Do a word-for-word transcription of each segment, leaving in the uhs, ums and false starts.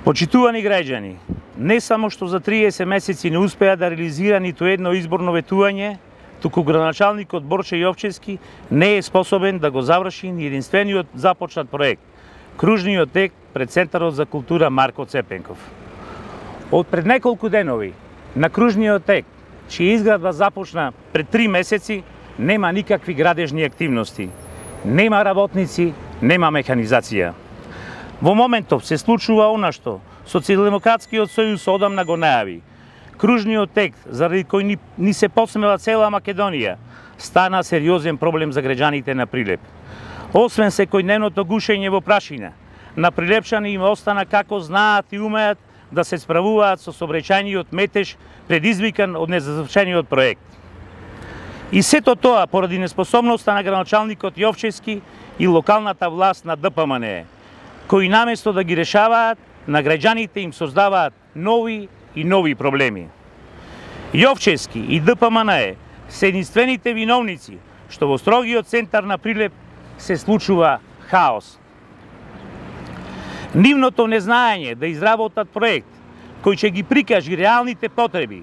Почитувани граѓани, не само што за триесет месеци не успеа да реализира ниту едно изборно ветување, туку градоначалникот Борче Јовчевски не е способен да го заврши ни единствениот започнат проект – кружниот тек пред Центарот за култура Марко Цепенков. Од пред неколку денови на кружниот тек, чија изградба започна пред три месеци, нема никакви градежни активности, нема работници, нема механизација. Во моментов се случува она што Социјалдемократскиот сојуз одамна го најави. Кружниот тек, заради кој ни, ни се посмела цела Македонија, стана сериозен проблем за граѓаните на Прилеп. Освен секојдневното гушење во прашина, на прилепчани им остана како знаат и умеат да се справуваат со сообраќајниот метеж предизвикан од незавршениот проект. И сето тоа поради неспособноста на градоначалникот Јовчевски и локалната власт на Д П М Н Е, кои наместо да ги решаваат, на граѓаните им создаваат нови и нови проблеми. Јовчевски и Д П М Н Е се единствените виновници што во строгиот центар на Прилеп се случува хаос. Нивното незнаење да изработат проект кој ќе ги прикажи реалните потреби,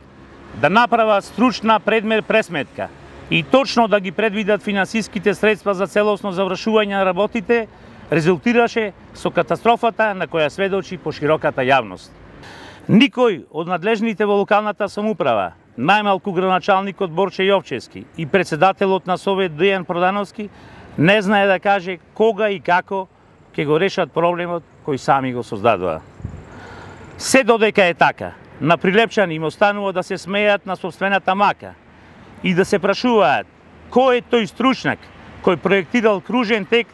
да направат стручна предмер пресметка и точно да ги предвидат финансиските средства за целосно завршување на работите, резултираше со катастрофата на која сведочи по широката јавност. Никој од надлежните во локалната самоуправа, најмалку градоначалникот Борче Јовчевски и председателот на Совет Дејан Продановски, не знае да каже кога и како ќе го решат проблемот кој сами го создадоа. Се додека е така, на прилепчани им останува да се смејат на собствената мака и да се прашуваат кој е тој стручнак кој проектирал кружен тек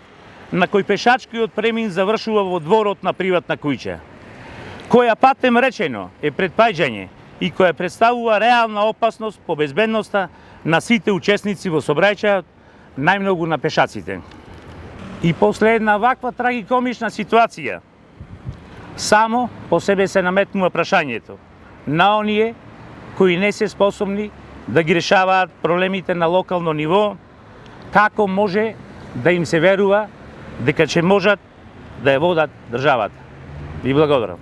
на кој пешачкиот премин завршува во дворот на приватна куќа, која патем речено е предпаѓање и која представува реална опасност по безбедноста на сите учесници во сообраќајот, најмногу на пешаците. И после една ваква трагикомична ситуација, само по себе се наметнува прашањето на оние кои не се способни да ги решаваат проблемите на локално ниво, како може да им се верува дека ќе можат да ја водат државата. Ви благодарам.